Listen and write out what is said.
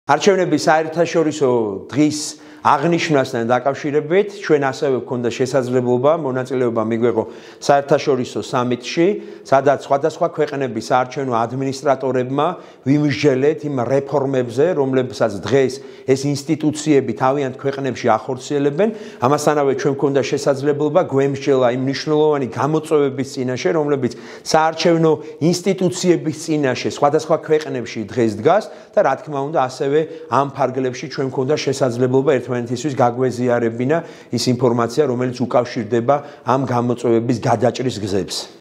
არჩევნების საერთაშორისო დღის აღნიშვნასთან დაკავშირებით ჩვენ ასევე გვქონდა შესაძლებლობა მონაწილეობა მიგვეღო საერთაშორისო სამიტში, სადაც სხვადასხვა ქვეყნების საარჩევნო ადმინისტრატორებმა ვიმსჯელეთ იმ რეფორმებზე, რომლებსაც დღეს ეს ინსტიტუციები თავიანთ ქვეყნებში ახორციელებენ. ამასთანავე ჩვენ გვქონდა შესაძლებლობა გვემსჯელა იმ მნიშვნელოვანი გამოწვევების წინაშე, რომლებიც საარჩევნო ინსტიტუციების წინაშე სხვადასხვა ქვეყნებში დღეს დგას და რა თქმა უნდა ასევე ამ ფარგლებში ჩვენ გვქონდა შესაძლებლობა ერთმანეთისთვის გაგვეზიარებინა ის ინფორმაცია, რომელიც უკავშირდება ამ გამოწვევების გადაჭრის გზებს.